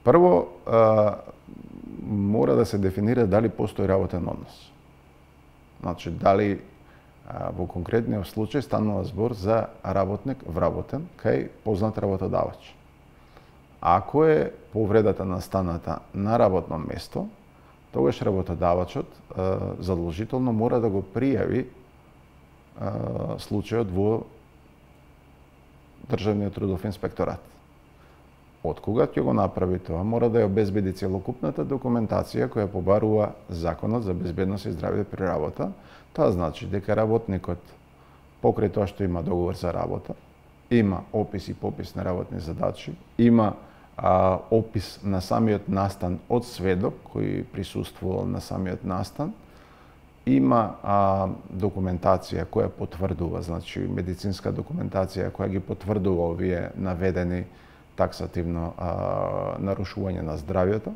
Прво, мора да се дефинира дали постои работен однос. Значи, дали во конкретниот случај станува збор за работник вработен кај познат работодавач. Ако е повредата настаната на работно место, тогаш работодавачот задолжително мора да го пријави случајот во Државниот трудов инспекторат. Од кога ќе го направи тоа, мора да ја обезбеди целокупната документација која побарува Законот за безбедност и здравје при работа. Тоа значи дека работникот, покрај тоа што има договор за работа, има опис и попис на работни задачи, има опис на самиот настан од сведок кој присуствувал на самиот настан, има документација која потврдува, значи медицинска документација која ги потврдува овие наведени таксативно нарушување на здравјето.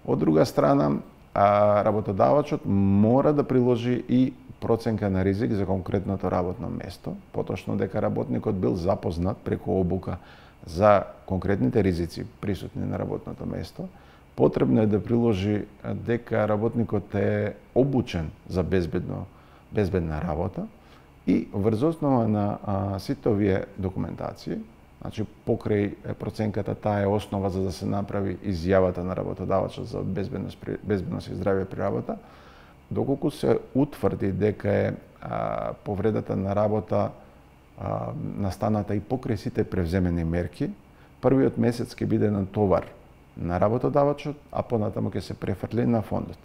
Од друга страна, работодавачот мора да приложи и проценка на ризик за конкретното работно место, поточно дека работникот бил запознат преку обука за конкретните ризици присутни на работното место. Потребно е да приложи дека работникот е обучен за безбедна работа и врз основа на сите овие документации, значи покрај проценката, таа е основа за да се направи изјавата на работодавачот за безбедност и здравје при работа, доколку се утврди дека е повредата на работа настаната и покрај сите превземени мерки, првиот месец ќе биде на товар на работодавачот, а понатаму ќе се префрли на фондот.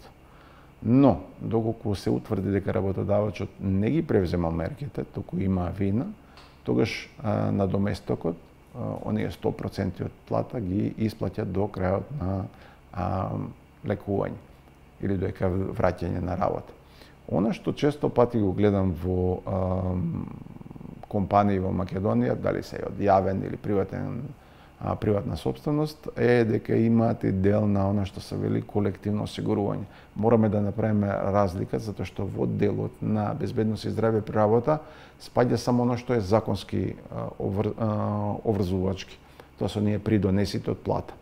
Но, доколку се утврди дека работодавачот не ги превземал мерките, туку има вина, тогаш надоместокот, оние 100% од плата ги исплаќа до крајот на лекување или до враќање на работа. Она што често пати го гледам во компании во Македонија, дали се од јавен или приватна собственост, е дека имаат и дел на она што се вели колективно осигурување. Мораме да направиме разлика, затоа што во делот на безбедност и здравје при работа спаѓа само оно што е законски обврзувачки. Тоа се оние придонесите од плата.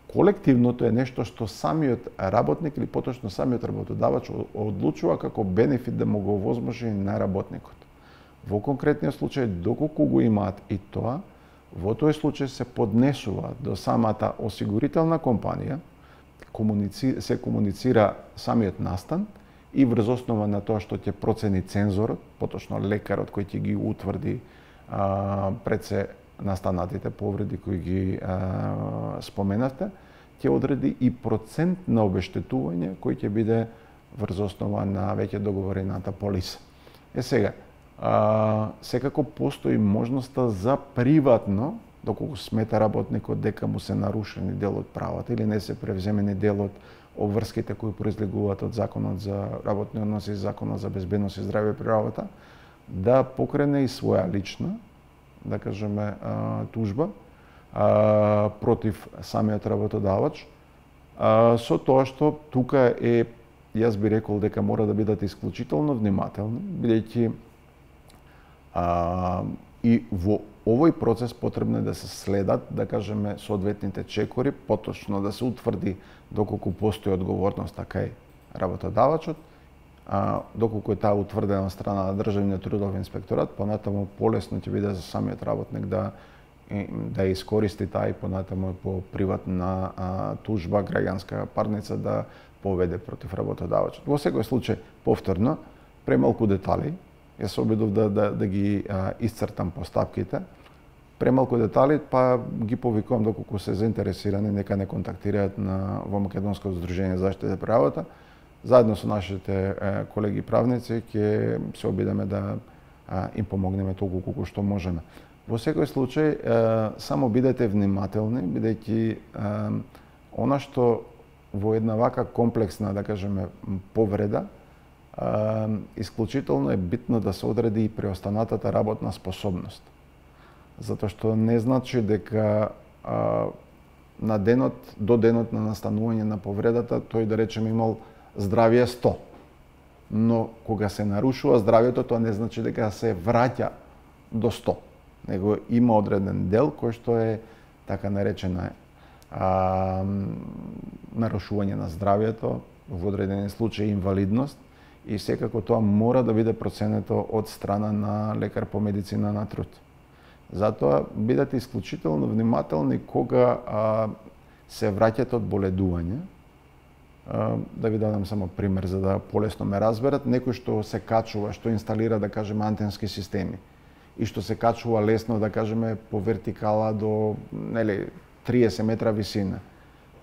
Колективното е нешто што самиот работник или поточно самиот работодавач одлучува како бенефит да му го овозможи на работникот. Во конкретниот случај, доколку го имаат и тоа, во тој случај се поднесува до самата осигурителна компанија, се комуницира самиот настан и врз основа на тоа што ќе процени цензорот, поточно лекарот кој ќе ги утврди пред се настанатите повреди кои ги споменавте, ќе одреди и процент на обештетување кој ќе биде врз основа на веќе договорената полиса. Сега, секако постои можноста за приватно, доколку смета работникот дека му се нарушени дел од правата или не се превземени дел од обврските кои произлегуваат од Законот за работни односи и Законот за безбедност и здравје при работа, да покрене и своја лична, да кажеме, тужба против самиот работодавач, со тоа што тука е, јас би рекол дека мора да бидат исклучително внимателни, бидејќи и во овој процес потребно е да се следат, да кажеме, соодветните чекори, поточно да се утврди доколку постои одговорност кај работодавачот, доколку е таа утврдена од страна на Државниот трудов инспекторат, понатаму полесно ќе биде за самиот работник да искористи таа и понатаму по приватна тужба, граѓанска парница да поведе против работодавачот. Во секој случај, повторно, премалку детали, јас се обидов да ги исцртам постапките. Премалку детали, па ги повикувам доколку се заинтересирани, нека не контактираат во Македонското здружение за заштита при работа. Заедно со нашите колеги правници ќе се обидеме да им помогнеме толку колку што можеме. Во секој случај, само бидете внимателни, бидејќи она што во една вака комплексна, да кажеме, повреда, исклучително е битно да се одреди и преостанатата работна способност. Затоа што не значи дека на денот, до денот на настанување на повредата, тој да речеме имал здравје 100. Но кога се нарушува здравјето, тоа не значи дека се враќа до 100. Него има одреден дел кој што е така наречена нарушување на здравјето, во одредени случаи инвалидност, и секако тоа мора да биде проценето од страна на лекар по медицина на труд. Затоа бидете исклучително внимателни кога се враќате од боледување. Да ви дадам само пример за да полесно ме разберат. Некој што се качува, што инсталира, да кажеме, антенски системи и што се качува лесно, да кажеме, по вертикала до 30 метра висина.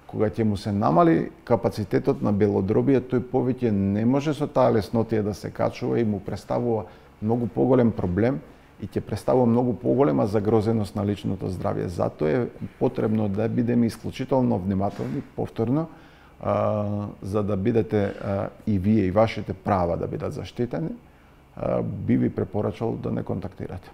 Кога ќе му се намали капацитетот на белодробие, тој повеќе не може со таа леснотија да се качува и му представува многу поголем проблем и ќе представува многу поголема загрозеност на личното здравје. Затоа е потребно да бидеме исклучително внимателни, повторно, за да бидете и вие и вашите права да бидат заштитени, би ви препорачал да не контактирате.